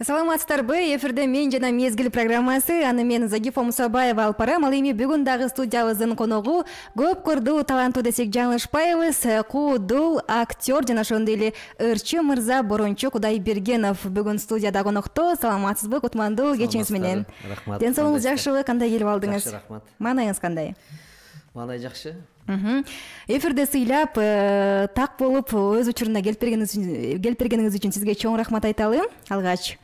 Саламатсыздарбы? Эфирде мен жана мезгил программасы. Аны мен Загифа Мусабаева алып барам. Ал эми бүгүн дагы студиябыздын коногу көп көрдүү таланттуу десек жаңылышпайбыз. Куудул актер жана ошондой эле ырчы мырза Борончо Кудайбергенов бүгүн студияда конокто. Саламатсызбы? Кутмандуу кечиңиз менен. Рахмат. Ден соолугуңуз жакшыбы? Кандай келип алдыңыз? Жакшы, рахмат. Маанайыңыз кандай? Маанай жакшы. Эфирде сыйлап, так болуп өз учуруна келип бергениңиз үчүн сизге чоң рахмат айталы. Алгач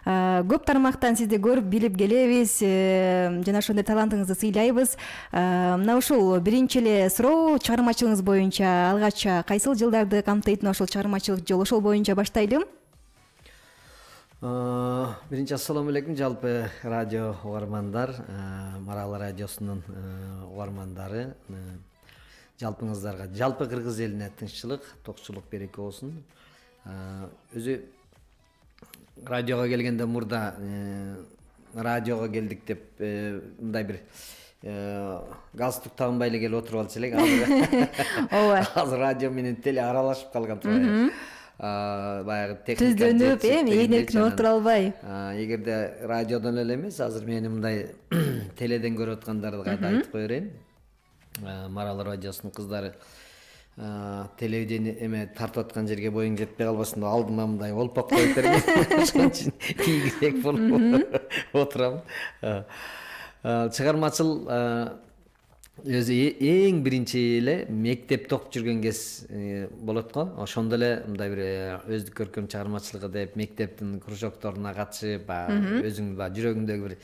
көп тармактан сизди көрүп билип келебиз, жана ошондой талантыңызды сыйлайбыз. Мына ушул биринчи эле суроо, чыгармачылыгыңыз боюнча алгач кайсыл жылдарды камтыйт ошол чыгармачылык жол, ошол боюнча баштайлы. Биринчи ассаламу алейкум жалпы радио угармандар, Марал радиосунун угармандары, жалпыңыздарга, жалпы кыргыз элине тынччылык, токчулук береке болсун. Өзү радиого келгенде мурда радиого келдик деп мындай бир галстук тагынбай эле келип отуруп алчу элек. Ооба. Азыр радио менен теле аралашып калган турбайбы. Баягы техника түздөнүп, ээн эркин отура албай. Эгерде радиодон эле эмес, азыр мени мындай теледен көрүп аткандарды кайда айтып кое берейин. Марал радиосунун кыздары телевидение эме тартып аткан жерге боюң жетпей калбасын деп алдыма мындай олпок коюп берген. Ошон үчүн тийгирээк болуп отурам. Чыгармачыл өзү эң биринчи эле мектепте окуп жүргөн кез болот го. Ошондо эле мындай бир өздүк көркөм чыгармачылыгы деп мектептин кружокторуна катышып, өзүң жүрөгүңдөгү бир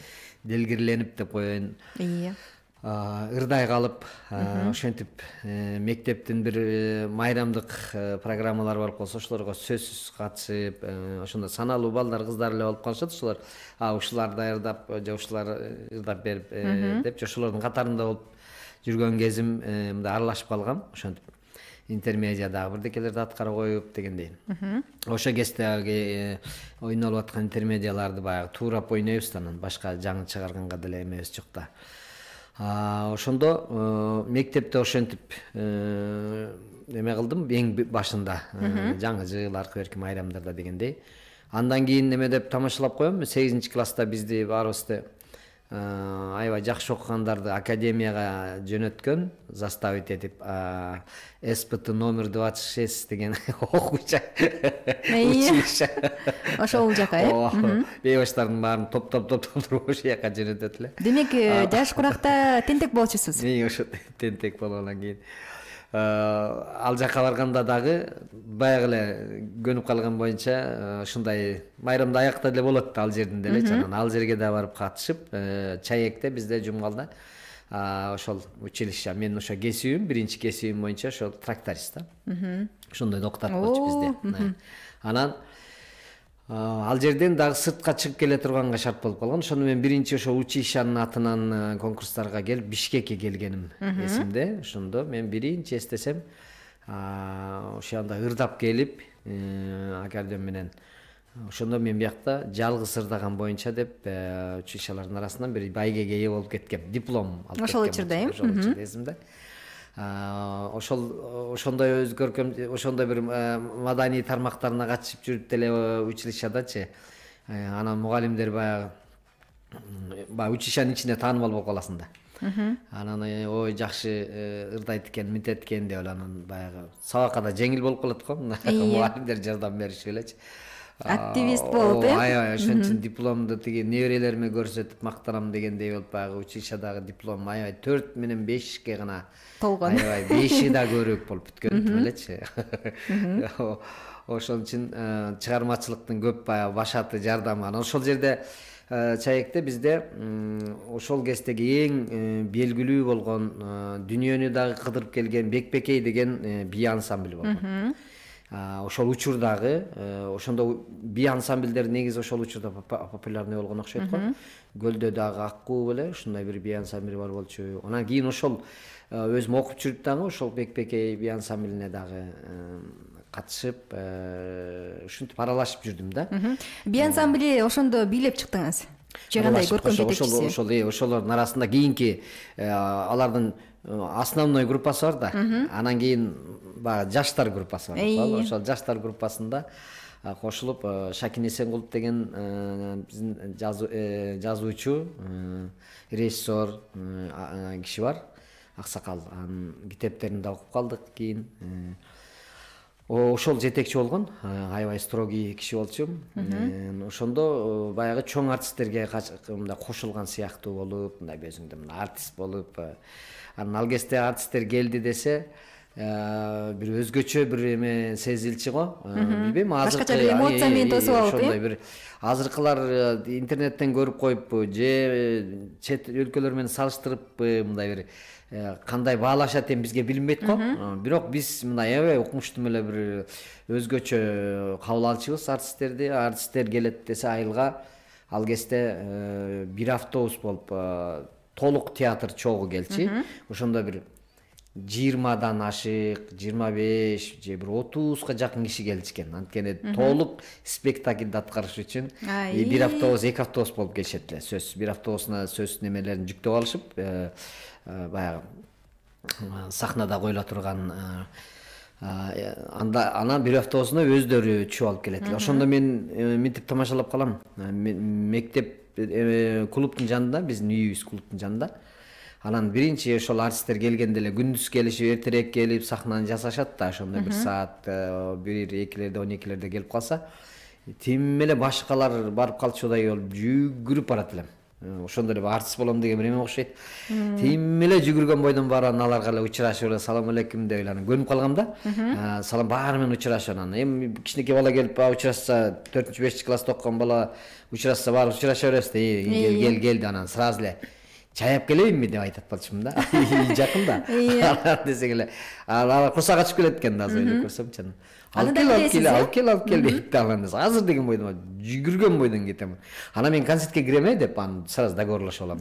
делгирленип деп коеюн. Ырдай калып, ошентип мектептин бир майрамдык программалары бар болсо, ошолорго сөзсүз катышып, ошондо саналуу балдар, кыздар эле болуп калышат. Ошолор ушулар даярдап, же ушулар ырдап берип деп, ошолордун катарында болуп жүргөн кезим мындай аралашып калгам. Ошентип интермедиадагы бирдекелерди аткара коюп дегендей. Ошо кезде ойнолуп аткан интермедиаларды баягы туурап ойнойбуз да, анан башка жаңы чыгарганга деле эмебиз жок да. Ошондо мектепте ошентип эме кылдым эң башында, жаңы жыл, аркы берки майрамдарда дегендей. Андан кийин эме деп тамашалап коем, 8-класста бизди баарыбызды аябай жакшы окугандарды академияга жөнөткөн, заставить этип СПТ номер 26 деген окуучу училище. Ошол жака, бейбаштардын баарын топтоп туруп ошол жака жөнөтөт эле. Демек, жаш куракта тентек болчусуз. Мен ошо тентек болгондон кийин ал жака барганда дагы баягы эле көнүп калган боюнча ушундай майрамда аякта деле болот да, ал жердин деле. Анан ал жерге да барып катышып, Чаекте бизде Жумгалда ошол училище, мен ошо кесибим, биринчи кесибим боюнча ошол тракторист да. Ошондой доктор болчу бизде. Анан ал жерден дагы сыртка чыгып келе турганга шарт болуп калган. Ошондо мен биринчи ошо училищанын атынан конкурстарга келип Бишкекке келгеним эсимде. Ошондо мен биринчи эстесем ошондо ырдап келип аккордеон менен. Ошондо мен биякта жалгыз ырдаган боюнча деп училищалардын арасынан бир байгеге ээ болуп кеткем. Диплом алып кеткем. Ошол учурда эсимде. Ошондой өз көркөм, ошондой бир маданий тармактарына катышып жүрүп деле училищадачы. Анан мугалимдер баягы училищанын ичинде таанымал болуп каласың да. Анан ой жакшы ырдайт экен, мынтет экен деп анан баягы сабакка да жеңил болуп калат го. Мугалимдер жардам беришип элечи. Активист болуп, аябай ошон үчүн дипломду тиги неберелериме көрсөтүп мактанам дегендей болуп, баягы училищадагы диплом аябай 4 менен 5ке гана болгон. Аябай 5и да көрөөк болуп бүткөн элечи. Ошон үчүн чыгармачылыктын көп баягы башаты жардамы. Анан ошол жерде Чаекте бизде ошол кездеги эң белгилүү болгон, дүйнөнү дагы кыдырып келген Бекбекей деген бий ансамбль болгон. Ошол учурдагы, ошондо бий ансамбльдер негизи ошол учурда популярный болгон окшойт го. Көлдө дагы Аккуу беле ушундай бир бий ансамбль бар болчу. Анан кийин ошол өзүм окуп жүрүп дагы ошол Бекбекей бий ансамблине дагы катышып, ушинтип аралашып жүрдүм да. Бий ансамбли ошондо бийлеп чыктыңыз. Же кандай көркөм жетекчиси? Ошолордун арасында кийинки алардын основной группасы бар да. Анан кийин баягы жаштар группасы бар. Ошол жаштар группасында кошулуп Шакин Эсенкулов деген биздин жазуучу, режиссер киши бар, аксакал. Анын китептерин да окуп калдык кийин. Ошол жетекчи болгон, аябай строгий киши болчу. Ошондо баягы чоң артисттерге мындай кошулган сыяктуу болуп, мындай өзүңдө мындай артист болуп, анан ал кезде артисттер келди десе, бир өзгөчө бир эме сезилчү го. Билбейм, башкача бир эмоция менен тосуп алып, ошондой бир азыркылар интернеттен көрүп коюппу же чет өлкөлөр менен салыштырыппы, мындай бир кандай баалашат эми бизге билинбейт го. Бирок биз мындай аябай укмуштуу эле бир өзгөчө кабыл алчубуз артисттерди. Артисттер келет десе айылга, ал кезде бир автобус болуп толук театр чогуу келчи. Ошондо бир 20дан ашык, 25 же бир 30га жакын киши келчү экен. Анткени толук спектакльди аткарыш үчүн бир автобус, 2 автобус болуп келишет эле. Сөз бир автобусуна сөз немелерин жүктөп алышып, баягы сахнада коюла турган, анан бир автобусуна өздөрү түшүп алып келет эле. Ошондо мен мынтип тамашалап калам. Мектеп клубтун жанында, биздин үйүбүз клубтун жанында. Анан биринчи ошол артисттер келгенде эле күндүз келишип, эртерээк келип сахнаны жасашат да, ошондо бир саат 1-2лерде 12лерде келип калса, тим эле башкалар барып калчудай болуп жүгүрүп барат элем. Ошондо эле артист болом деген бир эме окшойт. Тим эле жүгүргөн бойдон барам, аларга эле учурашып эле салам алейкум деп эле анан көнүп калгам да. Салам баары менен учурашып анан. Эми кичинекей бала келип учурашса, 4-5 класста окуган бала учурашса баары учураша беребиз да. Кел анан сразу эле чаяп келейинби деп айтат болчумун да. Жакын да. Десек эле алар курсак ачып келет экен да, азыр эле көрсөмчү. Алып кел дейт да. Азыр деген бойдон жүгүргөн бойдон кетем. Анан мен концертке кирем деп анан сразу договорлашып алам.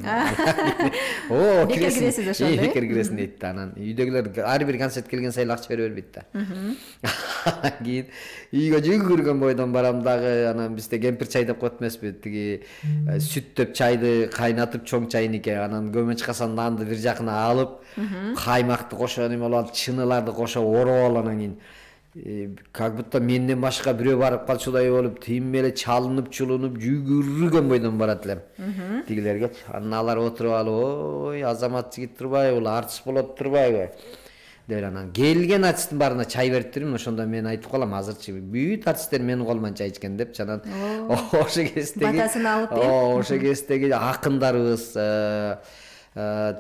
О, киресиз ошондо. Бекер киресиң дейт да. Анан үйдөгүлөр ар бир концерт келген сайын акча бере бербейт да. Кийин үйгө жүгүргөн бойдон барам дагы. Анан бизде кемпир чай деп коет эмеспи, тиги сүттөп чайды кайнатып чоң чайнике, анан көмөч касан нанды бир жакына алып, каймакты кошо неме алып, чыныларды кошо ороп алып, анан кийин как будто менден башка бирөө барып калчудай болуп, тим эле чалынып, чулунуп, жүгүргөн бойдон барат элем. Тигилерге анан алар отуруп алып, ой, Азамат жигит турбайбы, бул артист болот турбайбы деп анан келген артисттин баарына чай берип турмун. Ошондо мен айтып калам, азырчы бүт артисттер менин колуман чай ичкен деп. Анан ошо кездеги батасын алып, ошо кездеги акындарыбыз,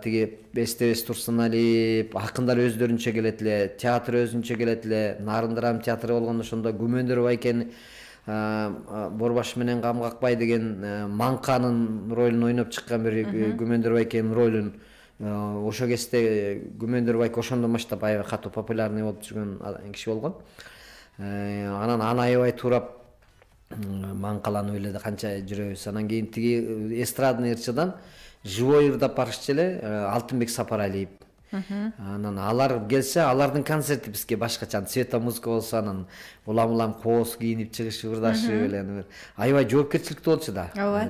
тиги Эстебес Турсуналиев, акындар өздөрүнчө келет эле, театр өзүнчө келет эле. Нарындырам театры болгондо ошондо Күмөндөр Байкен Борбаш менен Камгакбай деген Маңканын ролун ойноп чыккан бир Күмөндөр Байкенин ролун. Ошо кезде Күмөндөр Байке ошондон баштап аябай катуу популярный болуп жүргөн киши болгон. Анан аны аябай туурап маңкаланып эле канча жүрөбүз. Анан кийин тиги эстрадный ырчыдан живой ырдап барышчу эле Алтынбек Сапаралиев. Анан алар келсе, алардын концерти бизге башкача, цвета музыка болсо, анан улам кооз кийинип чыгышып ырдашып эле аябай жоопкерчиликтүү болчу да.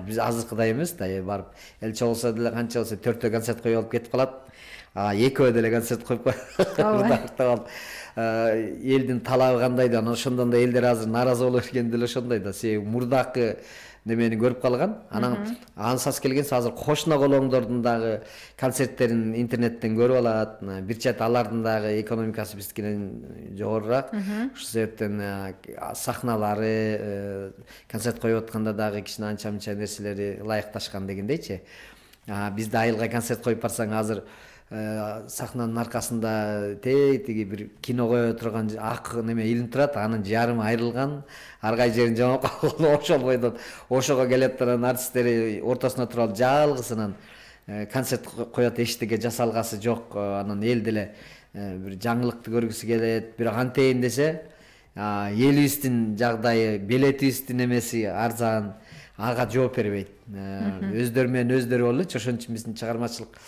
Биз азыркыдай эмес да, барып эл чогулса деле канча болсо 4 концерт коюп алып кетип калат. 2 деле концерт коюп ырдап элдин талабы кандай да, ошондон да элдер азыр нааразы боло берген деле ошондой да. Себеби мурдакы немени көрүп калган. Анан ансыз келгенсе азыр кошуна колоңдордун дагы концерттерин интернеттен көрүп алат. Бир чат алардын дагы экономикасы биздикинен жогорураак. Ошол себептен сахналары, концерт коюп атканда дагы кичине анча-мынча нерселери ылайыкташкан дегендейчи. Бизде айылга концерт коюп барсаң, азыр сахнанын аркасында тиги бир кино кое турган ак неме илинип турат, анын жарымы айрылган, ар кай жерин жамап калган. Ошол бойдон ошого келет, анан артисттери ортосуна туруп алып жалгысынан концерт коет, эчтеке жасалгасы жок. Анан эл деле бир жаңылыкты көргүсү келет. Бирок антейин десе, элибиздин жагдайы, билетибиздин эмеси арзан, ага жооп бербейт. Өздөрү менен өздөрү болчу. Ошон үчүн биздин чыгармачылык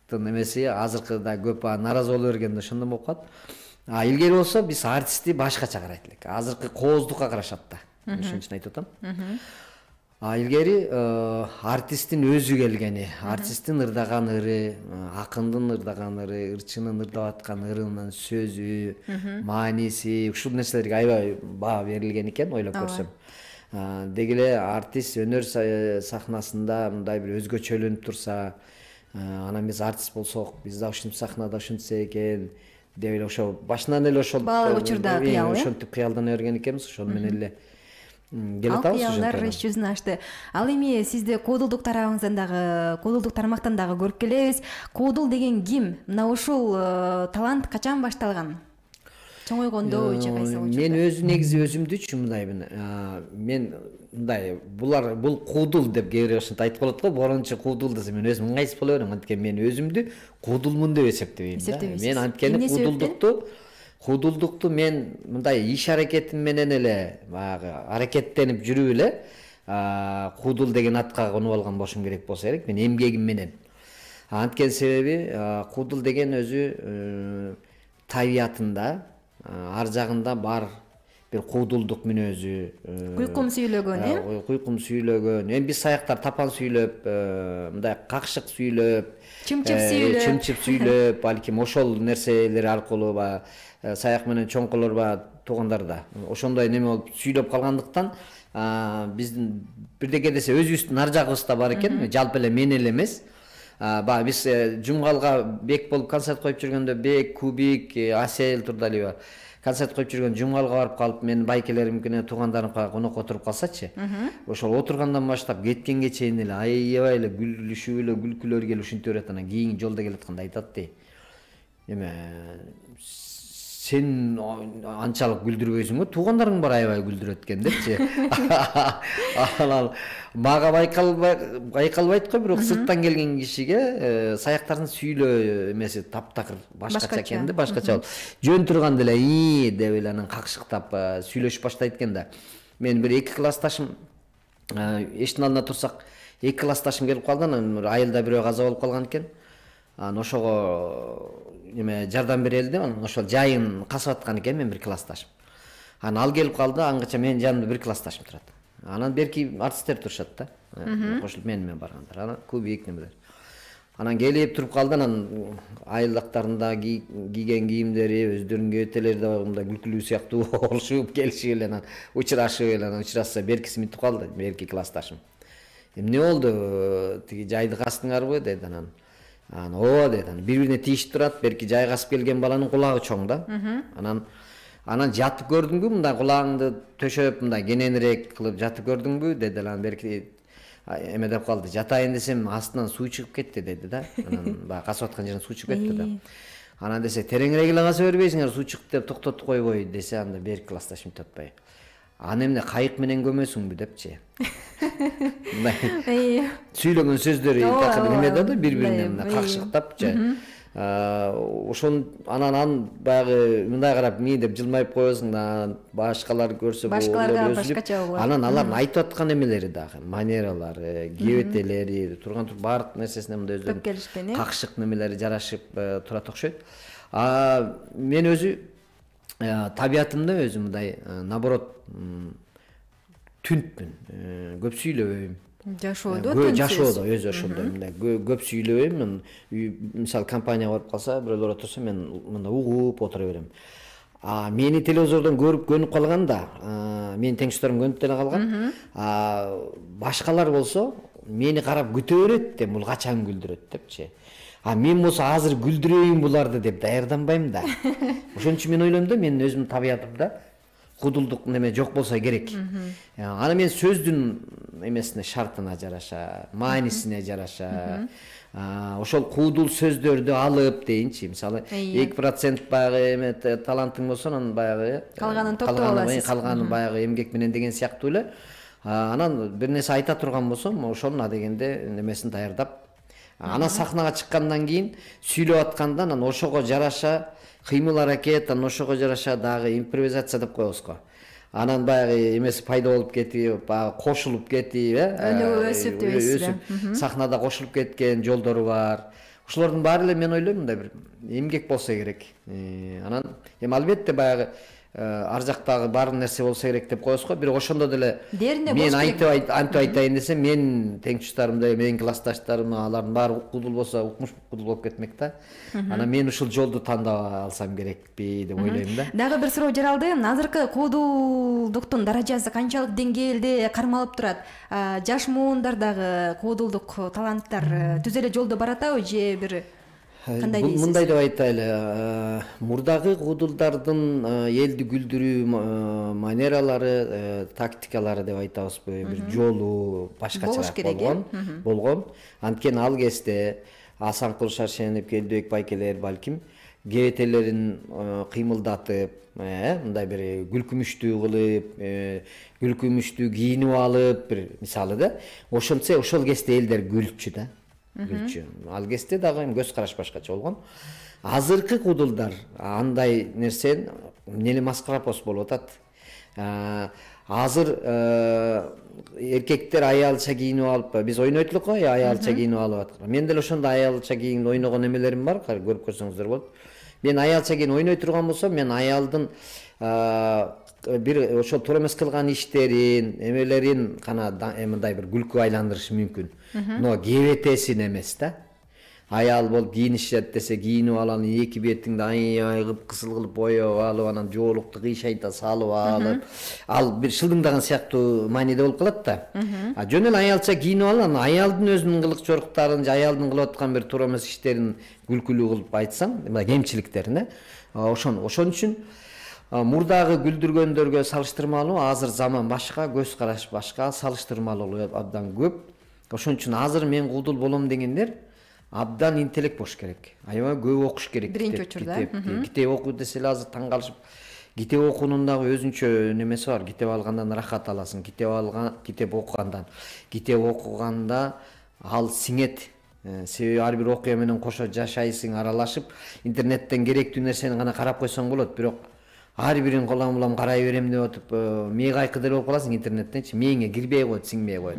эмеси азыркыда көп нааразы боло бергенде ошондон болуп калат. Илгери болсо биз артистти башкача карайт элек. Азыркы кооздукка карашат да. Ошон үчүн айтып атам. Илгери артисттин өзү келгени, артисттин ырдаган ыры, акындын ырдаган ыры, ырчынын ырдап аткан ырынын сөзү, мааниси, ушул нерселерге аябай баа берилген экен, ойлоп көрсөм. Деги эле артист өнөр сахнасында мындай бир өзгөчөлөнүп турса, анан биз артист болсок, биз да ушинтип сахнада ушинтсек экен деп эле ошо башынан эле ошол баалык учурда кыял, ошентип кыялдана берген экенбиз, ошону менен эле келе атабыз. Кыялдар иш жүзүн ачты. Ал эми сизди коодулдук тарабыңыздан дагы, коодулдук тармактан дагы көрүп келебиз. Коодул деген ким? Мына ушул талант качан башталган? Чоңойгондо же кайсы учурда? Мен негизи өзүмдүчү мындаймын. Мен мындай бул куудул деп кээ бирөө ушинтип айтып калат го, борончу куудул десе мен өзүм ыңгайсыз боло берем. Анткени мен өзүмдү куудулмун деп эсептебейм да. Мен анткени куудулдукту мен мындай иш аракетим менен эле баягы аракеттенип жүрүп эле куудул деген атка конуп алган болушум керек болсо керек, мен эмгегим менен. Анткени себеби куудул деген өзү табиятында ар жагында бар бир куудулдук мүнөзү, куйкум сүйлөгөн, куйкум сүйлөгөн. Эми биз саяктар тапан сүйлөп, мындай какшык сүйлөп, чымчып сүйлөп, балким ошол нерселер аркылуу баягы саяк менен чоңкулар баягы туугандар да ошондой неме болуп сүйлөп калгандыктан биздин бирдеке десе өзүбүздүн ар жагыбызда бар экен, жалпы эле мен эле эмес. Баягы биз Жумгалга Бек болуп концерт коюп жүргөндө, Бек, Кубик, Асел Турдалиева концерт коюп жүргөн Жумгалга барып калып, менин байкелерим менен туугандарым конокко отуруп калсачы, ошол отургандан баштап кеткенге чейин эле аябай эле күлүшүп эле күлкүлөр келип ушинте берет. Анан кийин жолдо келатканда айтат дей, эме сен анчалык күлдүрбөйсүң, туугандарың бар аябай күлдүрөт экен депчи. Анан мага байкалбайт го, бирок сырттан келген кишиге саяктардын сүйлөө эмеси таптакыр башкача экен да, башкача болуп. Жөн турганда эле деп эле анан какшыктап сүйлөшүп баштайт экен да. Мен бир эки классташым эшиктин алдында турсак, эки классташым келип калды, анан айылда бирөө каза болуп калган экен. Анан ошого эме жардам берели деп, анан ошол жайын касып аткан экен мен бир классташым. Анан ал келип калды, аңгыча менин жанымда бир классташым турат. Анан берки артисттер турушат да, кошулуп менен баргандар. Анан Кубик немелер. Анан келип туруп калды, анан айылдактарында кийген кийимдери, өздөрүнүн кебетелери да мындай күлкүлүү сыяктуу болушуп, келишип эле анан учурашып эле, анан учурашса беркиси мынтип калды, берки классташым. Эмне болду? Тиги жайды кастыңарбы деди анан. Ооба деди. Бири-бирине тийишип турат. Берки жайгасып келген баланын кулагы чоң да. Анан жатып көрдүңбү, мындай кулагыңды төшөп, мындай кененирээк кылып жатып көрдүңбү деди. Анан берки эме деп калды. Жатайын десем астынан суу чыгып кетти деди да. Анан баягы касып аткан жеринен суу чыгып кетти да. Анан десе, тереңирээк эле каса бербейсиңер, суу чыкты деп токтотуп койбой десе, анда берки классташым татпай. Аны эмне кайык менен көмөсүңбү депчи. Сүйлөгөн сөздөрү такыр неме да бири-бирине какшыктап же. Ошон анан баягы мындай карап ми деп жылмайып коесуң да, башкалар көрсө башкаларга башкача болот. Анан алардын айтып аткан эмелери дагы, манералары, кебетелери, турган баардык нерсесине мындай өздөрүнүн какшык немелери жарашып турат окшойт. Мен өзү табиятымда өзү мындай наоборот түнтмүн, көп сүйлөбөйм. Жашоодо өзү ошондой мындай көп сүйлөбөйм. Мисалы компанияга барып калса, бирөөлөр отурса мен мындай угуп отура берем. Мени телевизордон көрүп көнүп калганда, менин теңдештөрүм көнүп деле калган. Башкалар болсо мени карап күтө берет да, бул качан күлдүрөт депчи. Мен болсо азыр күлдүрөйүн буларды деп даярданбайм да. Ошон үчүн мен ойлойм да, менин өзүмдүн табиятымда куудулдук неме жок болсо керек. Аны мен сөздүн эмесине, шартына жараша, маанисине жараша, ошол куудул сөздөрдү алып дейинчи. Мисалы 2% баягы эме талантың болсо, анан баягы калганын токтоп аласыз. Калганын баягы эмгек менен деген сыяктуу эле. Анан бир нерсе айта турган болсом, ошонун адегенде немесин даярдап, анан сахнага чыккандан кийин сүйлөп атканда анан ошого жараша кыймыл аракет, анан ошого жараша дагы импровизация деп коебуз го. Анан баягы эмеси пайда болуп кетип, баягы кошулуп кетип, өнүгүп өсүп дебейсиз да. Сахнада кошулуп кеткен жолдору бар. Ошолордун баары эле мен ойлойм мындай бир эмгек болсо керек. Анан эми албетте баягы ар жактагы бар нерсе болсо керек деп коебуз го. Бирок ошондо деле мен антип айтайын десем, мен теңчташдарымдай, менин классташтарым, алардын баары кудул болсо, укмуш кудул болуп кетмек да. Анан мен ушул жолду тандап алсам керекпи деп ойлойм да. Дагы бир суроо жаралды. Азыркы куудулдуктун даражасы канчалык деңгээлде кармалып турат? Жаш муундардагы куудулдук таланттар түз эле жолдо баратабы же бир кандай дейсиз? Мындай деп айтайлы, мурдагы куудулдардын элди күлдүрүү манералары, тактикалары деп айтабызбы, бир жолу башкачараак болгон. Анткени ал кезде Асанкул Шаршенов, Келдибек Байкелер балким кебетелерин кыймылдатып, мындай бир күлкүмүштүү кылып, күлкүмүштүү кийинип алып, бир мисалы да, ошентсе ошол кезде элдер күлчү да. Ал кезде дагы көз караш башкача болгон. Азыркы куудулдар андай нерсени нели маскарапос болуп атат. Азыр эркектер аялча кийинип алып, биз ойнойт элек го, аялча кийинип алып аткан. Мен деле ошондой аялча кийинип ойногон эмелерим бар, көрүп көрсөңүздөр болот. Мен аялча кийинип ойной турган болсом, мен аялдын бир ошол туура эмес кылган иштерин, эмелерин гана мындай бир күлкүгө айландырышы мүмкүн. Но кебетесин эмес да. Аял болуп кийинишет десе кийинип алып, эки бетиңди аябай кылып кызыл кылып боёп алып, анан жоолукту кыйшайта салып алып, ал бир шылдыңдаган сыяктуу мааниде болуп калат да. Жөн эле аялча кийинип алып, анан аялдын өзүнүн кылык жоруктарын же аялдын кылып аткан бир туура эмес иштерин күлкүлүү кылып айтсаң, мына кемчиликтерин, ошон үчүн мурдагы күлдүргөндөргө салыштырмалуу азыр заман башка, көз караш башка, салыштырмалуу абдан көп. Ошон үчүн азыр мен куудул болом дегендер абдан интеллект болуш керек. Аябай көп окуш керек. Биринчи учурда. Китеп окуу десе эле азыр таң калышып, китеп окуунун дагы өзүнчө немеси бар. Китеп алгандан рахат аласың. Китеп окуганда ал сиңет. Себеби ар бир окуя менен кошо жашайсың, аралашып, интернеттен керектүү нерсени гана карап койсоң болот. Бирок ар бирин улам карай берем деп атып, мээ кайкы деле болуп каласың интернеттенчи. Мээңе кирбей коет, сиңбей коет.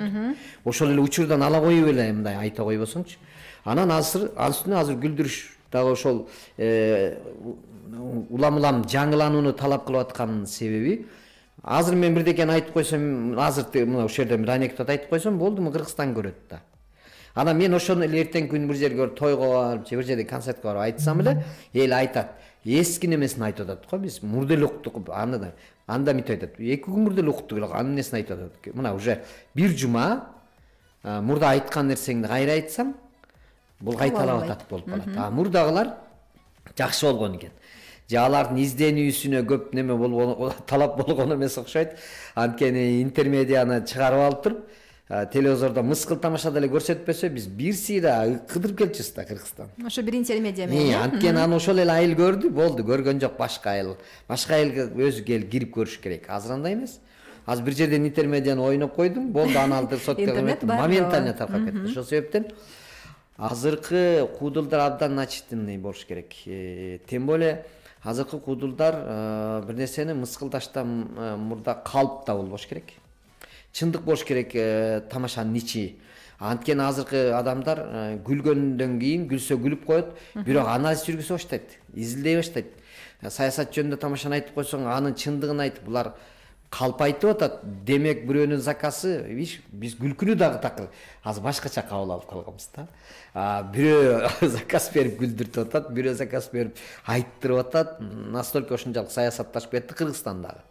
Ошол эле учурдан ала коюп эле мындай айта койбосоңчу. Анан ал үстүнө азыр күлдүрүш дагы ошол улам жаңыланууну талап кылып аткан себеби, азыр мен бирдекени айтып койсом, азыр мына ушул жерден бир анекдот айтып койсом, болдуму Кыргызстан көрөт да. Анан мен ошону эле эртең күнү бир жерге тойго барып, же бир жерде концертке барып айтсам эле, эл айтат. Эски немесин айтып атат го, биз мурда эле уктук, анда мынтип айтат. 2 күн мурда эле уктук эле, анын несин айтып атат. Мына уже бир жума мурда айткан нерсеңди кайра айтсам, бул кайталап атат болуп калат. Мурдагылар жакшы болгон экен. Же алардын изденүүсүнө көп неме болгон, талап болгон эмес окшойт. Анткени интермедианы чыгарып алып туруп, телевизордо мыскыл тамаша деле көрсөтпөсө, биз бир сыйра кыдырып келчүбүз да Кыргызстан. Ошо бир интермедиа менен. Анткени аны ошол эле айыл көрдү, болду, көргөн жок башка айыл. Башка айылга өзү келип кирип көрүш керек. Азыр андай эмес. Азыр бир жерден интермедианы ойноп койдум, болду, аны алдыр соттого моментально таркап кетти. Ошол себептен азыркы куудулдар абдан начитанный болуш керек. Тем более азыркы куудулдар бир нерсени мыскылдаштан мурда калпта болбош керек. Чындык болуш керек тамашанын ичи. Анткени азыркы адамдар күлгөндөн кийин күлсө күлүп коет, бирок анализ жүргүзө баштайт, изилдей баштайт. Саясат жөнүндө тамашаны айтып койсоң, анын чындыгын айтып, булар калп айтып атат. Демек бирөөнүн заказы, биз күлкүнү дагы такыр азыр башкача кабыл алып калганбыз да. Бирөө заказ берип күлдүртүп атат, бирөө заказ берип айттырып атат. Настолько ошончолук саясатташып кетти Кыргызстандагы.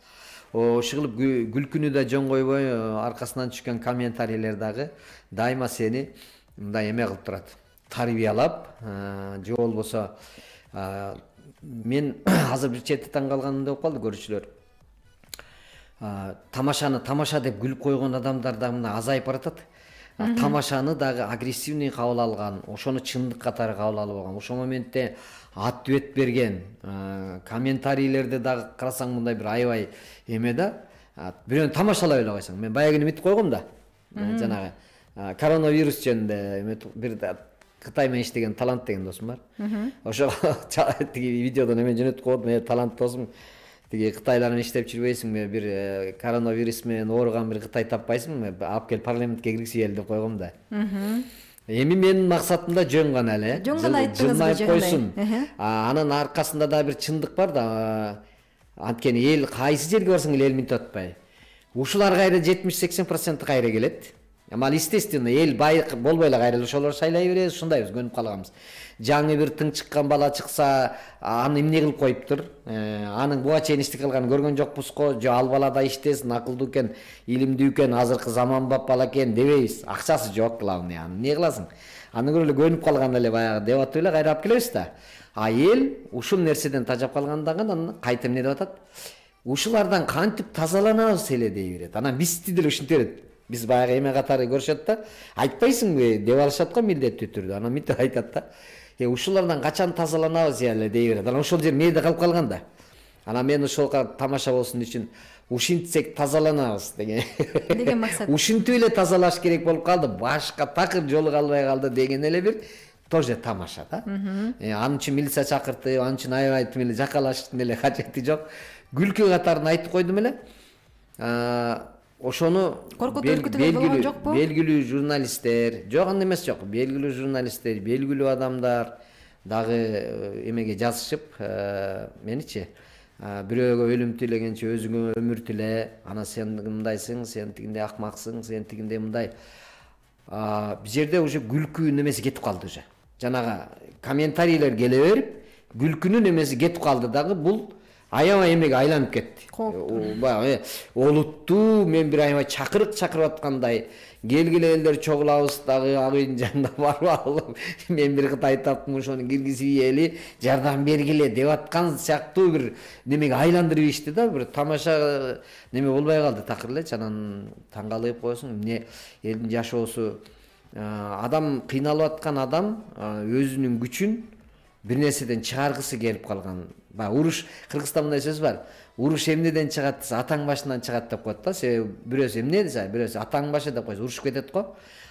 Ошол күлкүнү да жөн койбой, аркасынан түшкөн комментарийлер дагы дайыма сени мындай эме кылып турат. Тарбиялап, же болбосо мен азыр бир чети таң калганым болуп калды көрүүчүлөр. Тамашаны тамаша деп күлүп койгон адамдар да мына азайып баратат. Тамашаны дагы агрессивный кабыл алган, ошону чындык катары кабыл алып алган. Ошол моментте ответ берген комментарийлерди дагы карасаң мындай бир аябай эме да. Бирөөнү тамашалай эле койсоң. Мен баягы мынтип койгом да. Жанагы коронавирус жөнүндө бир Кытай менен иштеген талант деген досум бар. Ошо тиги видеодон эме жөнөтүп койдум, талант досум. Тиги Кытайлар менен иштеп жүрбөйсүңбү? Бир коронавирус менен ооруган бир Кытай таппайсыңбы? Алып кел парламентке киргизели деп койгом да. Эми менин максатым да жөн гана эле. Жөн гана айттыңыз койсун. Анын аркасында да бир чындык бар да. Анткени эл кайсы жерге барсаң эл минтип атпайбы. Ушулар кайра 70-80% кайра келет. Ал естественно эл бай болбой эле кайра ошолор шайлай беребиз, ушундайбыз, көнүп калганбыз. Жаңы бир тың чыккан бала чыкса, аны эмне кылып коюптур? Анын буга чейин иштик кылганын көргөн жокпуз го, же ал бала да иштесин, акылдуу экен, илимдүү экен, азыркы заманбап бала экен дебейбиз. Акчасы жок, главный, аны эмне кыласың? Аны көрүп эле көнүп калган эле баягы деп атып эле кайра алып келебиз да. А эл ушул нерседен тажап калгандан кийин анан кайта эмне деп атат? Ушулардан кантип тазаланабыз эле дей берет. Анан бизди деле ушинте берет. Биз баягы эме катары көрүшөт да, айтпайсыңбы деп алышат го милдеттүү түрдө. Анан мынтип айтат да. Ушулардан качан тазаланабыз эле дей берет. Анан ошол жер мээде калып калган да. Анан мен ошол тамаша болсун үчүн ушинтсек тазаланабыз деген максат. Ушинтип эле тазалаш керек болуп калды. Башка такыр жолу калбай калды деген эле бир тоже тамаша да. Анын үчүн милиция чакыртып, анын үчүн аябай эле жакалаштын эле кажети жок. Күлкү катарын айтып койдум эле. Ошону белгилүү журналисттер, жок анда эмес жок, белгилүү журналисттер, белгилүү адамдар дагы эмеге жазышып, меничи бирөөгө өлүм тилегенче өзүңө өмүр тиле, ана сен мындайсың, сен тигиндей акмаксың, сен тигиндей мындай. Бул жерде уже күлкү немеси кетип калды уже. Жанагы комментарийлер келе берип, күлкүнүн немеси кетип калды дагы, бул аябай эмеге айланып кетти. Баягы олуттуу мен бир аябай чакырып аткандай, келгиле элдер чогулабыз дагы ак үйдүн жанына барып алып, мен бир кыт айтаптым, ошону киргизип ийели, жардам бергиле деп аткан сыяктуу бир немеге айландырып ишти да, бир тамаша неме болбой калды такыр элечи. Анан таң калып коесуң, эмне элдин жашоосу, адам кыйналып аткан адам өзүнүн күчүн бир нерседен чыгаргысы келип калган. Уруш, Кыргызстанда мындай сөз бар. Уруш эмнеден чыгат десе, атаң башынан чыгат деп коет да. Себеби бирөөсү эмне десе, бирөөсү атаң башы деп койсо урушуп кетет го.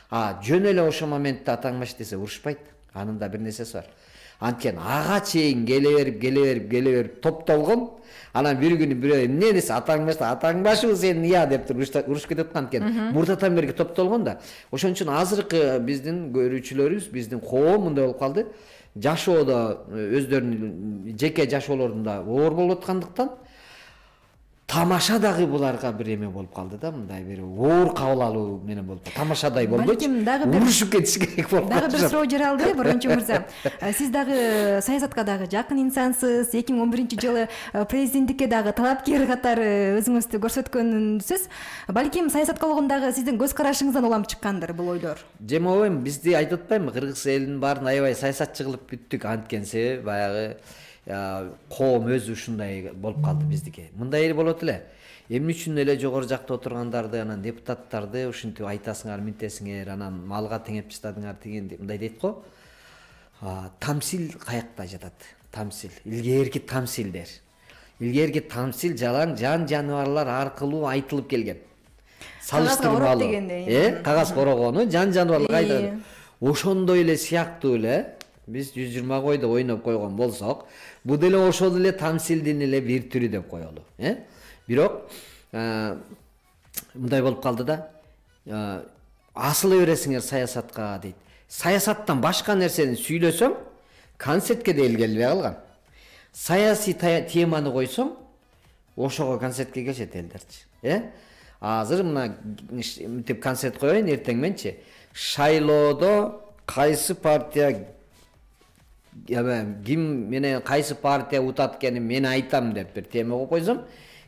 Жөн эле ошол моментте атаң баш десе урушпайт. Анын да бир нерсеси бар. Анткени ага чейин келе берип топтолгон. Анан бир күнү бирөө эмне десе, атаң башыбы сен ыя деп урушуп кетет го. Анткени мурдатан берги топтолгон да. Ошон үчүн азыркы биздин көрүүчүлөрүбүз, биздин коом мындай болуп калды. Жашоодо өздөрүнүн жеке жашоолорунда оор болуп аткандыктан тамаша дагы буларга бир эме болуп калды да, мындай бир оор кабыл алуу менен болуп калды. Тамашадай болбойчу, урушуп кетиш керек болуп калды. Дагы бир суроо жаралды, Борончу мырза. Сиз дагы саясатка дагы жакын инсансыз. 2011-жылы президенттикке дагы талапкер катары өзүңүздү көрсөткөнсүз. Балким саясатка болгондагы сиздин көз карашыңыздан улам чыккандыр бул ойлор. Жемобойм, бизди айтып атпаймынбы, кыргыз элинин баарын аябай саясатчы кылып бүттүк. Анткени себеби баягы коом өзү ушундай болуп калды биздики. Мындай эле болот эле. Эмне үчүн эле жогору жакта отургандарды, анан депутаттарды ушинтип айтасыңар, минтесиңер, анан малга теңеп таштадыңар деген мындай дейт го. Тамсил каякта жатат? Тамсил, илгерки тамсилдер. Илгерки тамсил жалаң жан жаныбарлар аркылуу айтылып келген. Салыштырмалуу. Кагаз корогону жан жаныбарлар айтат. Ошондой эле сыяктуу эле биз 120 койдо ойноп койгон болсок, бул деле ошол эле тамсилдин эле бир түрү деп коелу. Бирок мындай болуп калды да, асыла бересиңер саясатка дейт. Саясаттан башка нерсени сүйлөсөң, концертке де келбей калган. Саясий теманы койсоң, ошого концертке келишет элдерчи. Азыр мына мынтип концерт коеюн эртең менчи. Шайлоодо кайсы партия ким менен кайсы партия утат экенин мен айтам деп бир тема коюп койсом,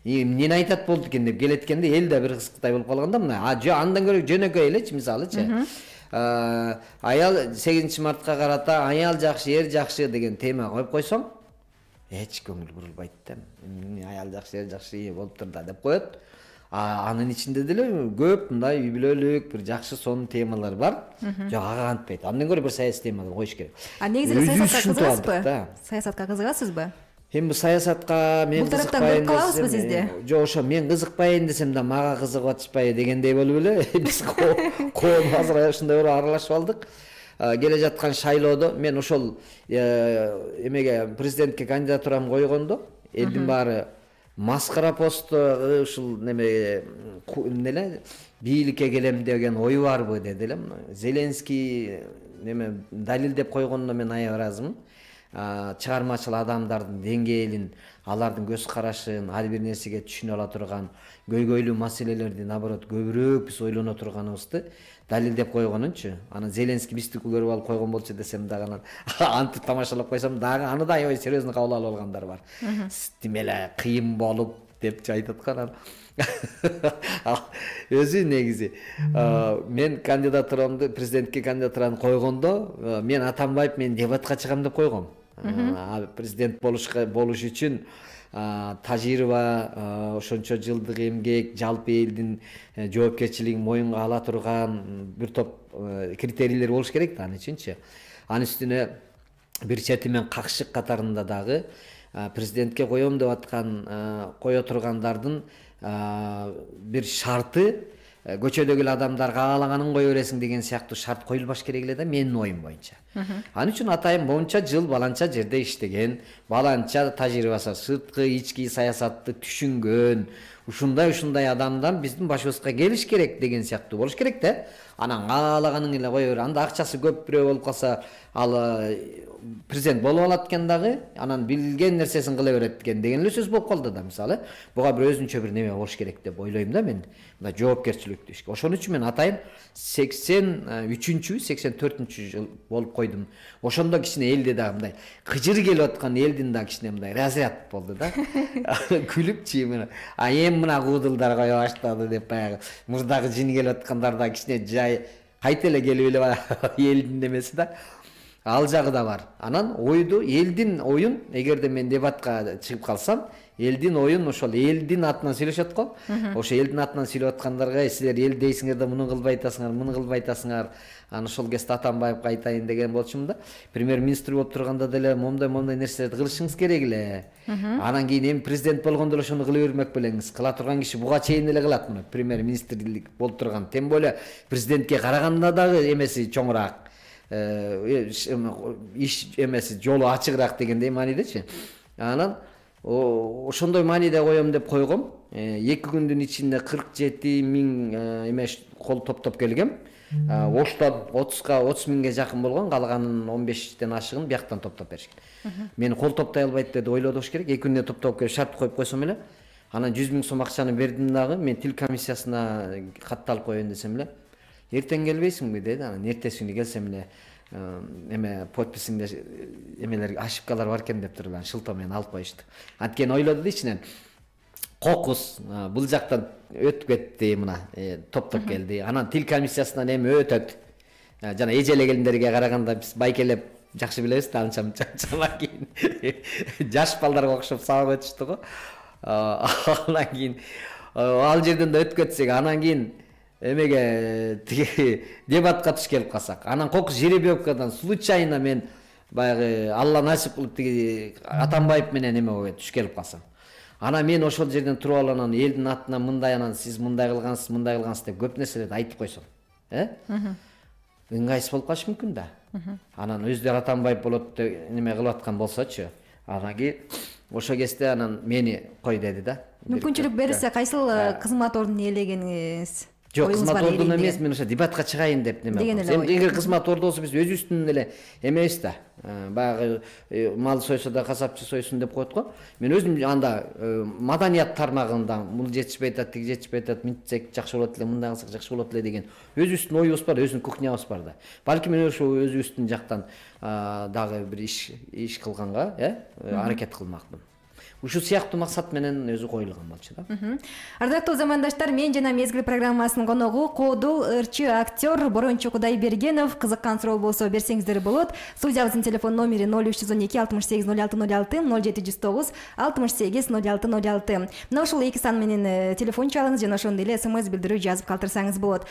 эмнени айтат болду экен деп келеткенде эл да бир кызыктай болуп калган да. Мына андан көрө жөнөкөй элечи, мисалычы. Аял 8 мартка карата аял жакшы, эр жакшы деген тема коюп койсоң, эч көңүл бурулбайт да. Аял жакшы, эр жакшы болуптур да деп коет. Анын ичинде деле көп мындай үй бүлөлүк бир жакшы сонун темалар бар. Жок, ага антпайт. Андан көрө бир саясий теманы коюш керек. Негизи саясатка кызыгасызбы? Саясатка кызыгасызбы? Эми саясатка мен кызыкпайм десем, калабызбы сизде? Жок, ошо мен кызыкпайын десем да мага кызыгып атышпайбы дегендей болуп эле. Биз коом азыр ушундай бир аралашып алдык. Келе жаткан шайлоодо мен ошол эмеге президентке кандидатурамды койгондо, элдин баары маскара постто ушул неме эле бийликке келем деген ой барбы деди эле. Зеленский неме далилдеп койгонуна мен аябай ыраазымын. чыгармачыл адамдардын деңгээлин, алардын көз карашын, ар бир нерсеге түшүнө ала турган, көйгөйлүү маселелерди наоборот көбүрөөк биз ойлоно турганыбызды далилдеп койгонунчу. Анан Зеленский мистику көрүп алып койгон болчу десем дагы анан антип тамашалап койсом дагы аны да аябай серьезно кабыл алып алгандар бар. Тим эле кыйын болуп депчи айтат го анан. Өзү негизи мен кандидатурамды, президентке кандидатураны койгондо мен Атамбаев мен дебатка чыгам деп койгом. Президент болуш үчүн тажрыйба, ошончо жылдык эмгек, жалпы элдин жоопкерчилигин моюнга ала турган бир топ критерийлер болуш керек да аны үчүнчү. Анын үстүнө бир чети мен какшык катарында дагы президентке коем деп аткан кое тургандардын бир шарты көчөдөгү эле адамдар каалаганын кое бересиң деген сыяктуу шарт коюлбаш керек эле да менин оюм боюнча. Анын үчүн атайын боюнча жыл баланча жерде иштеген, баланча тажрыйбасы, сырткы ички саясатты түшүнгөн, ушундай адамдар биздин башыбызга келиш керек деген сыяктуу болуш керек да. Анан каалаганын эле кое бер. Анда акчасы көп бирөө болуп калса, ал президент болуп алат экен дагы, анан билген нерсесин кыла берет экен деген эле сөз болуп калды да мисалы. Буга бир өзүнчө бир неме болуш керек деп ойлойм да мен. Мына жоопкерчиликтүү иш. Ошон үчүн мен атайын 83-чү, 84-чү жыл болуп койдум. Ошондо кичине элде дагы мындай кыжыр келип аткан элдин дагы кичине мындай разряд болду да. Күлүпчү мен. Эми мына куудулдар кое баштады деп баягы мурдагы жин келип аткандар да кичине жай кайта эле келип эле элдин немеси да. Ал жагы да бар. Анан ойду, элдин оюн, эгерде мен дебатка чыгып калсам, элдин оюн ошол элдин атынан сүйлөшөт го. Ошо элдин атынан сүйлөп аткандарга силер эл дейсиңер да муну кылбай атасыңар, муну кылбай атасыңар. Анан ошол кезде Атамбаевга айтайын деген болчумун да. Премьер-министр болуп турганда деле момундай нерселерди кылышыңыз керек эле. Анан кийин эми президент болгондо эле ошону кыла бермек белеңиз. Кыла турган киши буга чейин эле кылат муну. Премьер-министрлик болуп турган. Тем более президентке караганда дагы эмеси чоңураак. Иш эмеси жолу ачыгыраак дегендей маанидечи. Анан ошондой мааниде коем деп койгом. 2 күндүн ичинде 47 000 эмеш кол топтоп келгем. Оштон 30 миңге жакын болгон, калганын 15тен ашыгын бияктан топтоп беришкен. Мени кол топтой албайт деп ойлодуш керек. 2 күндө топтоп келип шарт коюп койсом эле. Анан 100 000 сом акчаны бердим дагы. Мен тил комиссиясына катталып коеюн десем эле. Эртең келбейсиңби деди. Анан эртеси күнү келсем эле эме подписиңде эмелер ошибкалар бар экен деп туруп анан шылтоо менен алып коюшту. Анткени ойлоду да ичинен кокус бул жактан өтүп кетти, мына топтоп келди. Анан тил комиссиясынан эми өтөт. Жана эжеле келиндерге караганда биз байкелеп жакшы билебиз да, анча кийин жаш балдарга окшоп сабак өтүштү го. Анан кийин ал жерден да өтүп кетсек, анан кийин эмеге тиги дебатка туш келип калсак, анан кокус жеребьевкадан случайно мен баягы Алла насип кылып тиги Атамбаев менен эме туш келип калсам, анан мен ошол жерден туруп алып анан элдин атынан мындай, анан сиз мындай кылгансыз деп көп нерселерди айтып койсом, ыңгайсыз болуп калышы мүмкүн да. Анан өздөрү Атамбаев болот деп неме кылып аткан болсочу, анан кийин ошо кезде анан мени кой деди да. Мүмкүнчүлүк берилсе кайсыл кызмат ордун ээлегениңиз? Жок, кызмат ордун эмес, мен ошо дебатка чыгайын деп неме кылдым. Эгер кызмат орду болсо биз өзүбүздүн эле эмебиз да. Баягы мал сойсо да касапчы сойсун деп коет го. Мен өзүм анда маданият тармагында бул жетишпей атат, тиги жетишпей атат, мынтсек жакшы болот эле, мындай кылсак жакшы болот эле деген өзүбүздүн оюбуз бар, өзүнүн кухнябыз бар да. Балки мен ошо өзүбүздүн жактан дагы бир иш кылганга, аракет кылмакмын. Ушул сыяктуу максат менен өзү коюлган болчу да. Ардактуу замандаштар, мен жана Мезгил программасынын коногу кодул ырчы актер Борончу Кудайбергенов. Кызыккан суроо болсо берсеңиздер болот. Студиябыздын телефон номери 0312 68 0606, 0709 68 0606. Мына ушул эки сан менен телефон чалыңыз жана ошондой эле СМС билдирүү жазып калтырсаңыз болот.